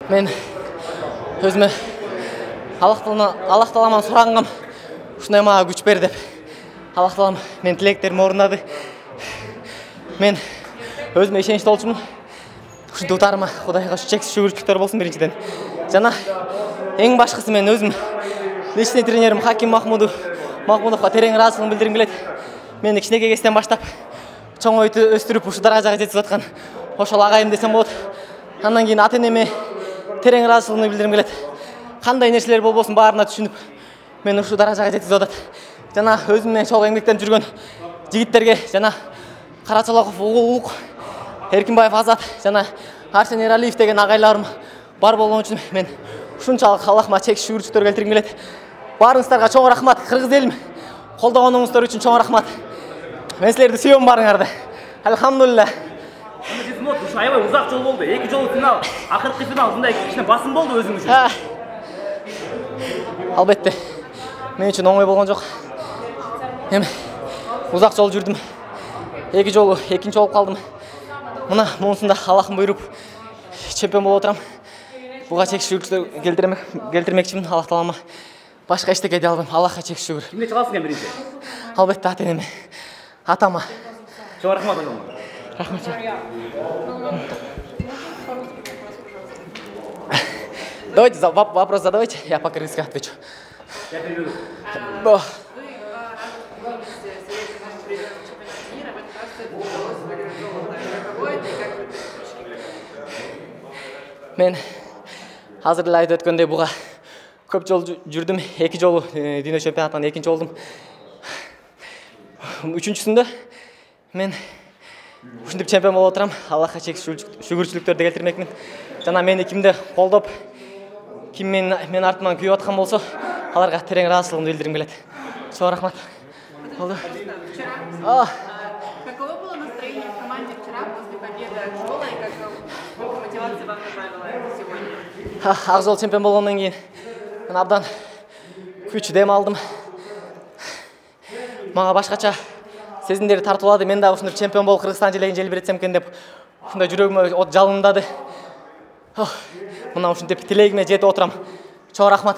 Мен өзүмө Аллах Тааладан сурагам, ушундай мага күч бер деп. Аллах Таалам менин тилектеримди орундады. Мен өзүмө ишеничтүү болчумун. Ушинтип утарыма Кудайга чексиз шүгүрчүлүктөр болсун биринчиден. Жана эң башкысы мен өзүм личный тренерим Хаким Махмудовго терең ыраазычылыгымды билдиргим келет. Мени кичинекей кезден баштап чоңойтуп өстүрүп ушу даражага жеткизип аткан ошол агайым десем болот. Андан кийин ата-энеме терең ыраазычылыгымды билдиргим келет. Кандай нерселер болбосун баарына түшүнүп, мени ушул даражага жеткизип атат. Жана өзүм менен чогуу эмгектенип жүргөн жигиттерге жана Карачалаков Улук, Эркинбаев Азат жана Арсен Эралиев деген агайларым бар болгон үчүн мен ушунчалык Аллахыма чексиз шүгүрчүлүктөр келтиргим келет. Баарыңыздарга чоң рахмат. Кыргыз элим колдогонуңуздар үчүн чоң рахмат. Мен силерди сүйөм баарыңарды. Алхамдулилла. Ушу аябай узак жол болду. 2 жолу финал, акыркы финал ушундай кичине басым болду өзүң үчүн. Албетте. Мен үчүн оңой болгон жок. Эми узак жол жүрдүм. 2 жолу экинчи болуп калдым. Мына монусунда Аллахым буйруп чемпион болуп отурам. Буга чексиз шүгүрчүлүктөр келтирмекчимин. Аллах Таалама башка эчтеке дей албайм. Аллахка чексиз шүгүр. Кимге чыгасың биринчи? Албетте ата-энеме, атама. Чоң рахмат ага. Рахмат. Давайте вопрос задавайте, я по-кыргызски отвечу. Я переведу. Мен азыр эле айтып өткөндөй буга көп жол жүрдүм. 2 жолу дүйнө чемпионатынан экинчи болдум. Үчүнчүсүндө мен ушинтип чемпион болуп отурам. Аллахка чексиз шүгүрчүлүктөрдү келтирмекмин. Жана мени кимде колдоп, ким мен артыман күйүп аткан болсо, аларга терең ыраазычылыгымды билдиргим келет. Чоң рахмат. Болду. Каково было настроение в команде вчера после победы Акжола и какая мотивация вам добавила сегодня? Акжол чемпион болгондон кийин мен абдан күч дем алдым. Мага башкача сезимдер тартуулады. Мен дагы ушундай чемпион болуп Кыргызстан желегин желбиретсем экен деп ушундай жүрөгүмө от жалындады. Мына ушинтип тилегиме жетип отурам. Чоң рахмат.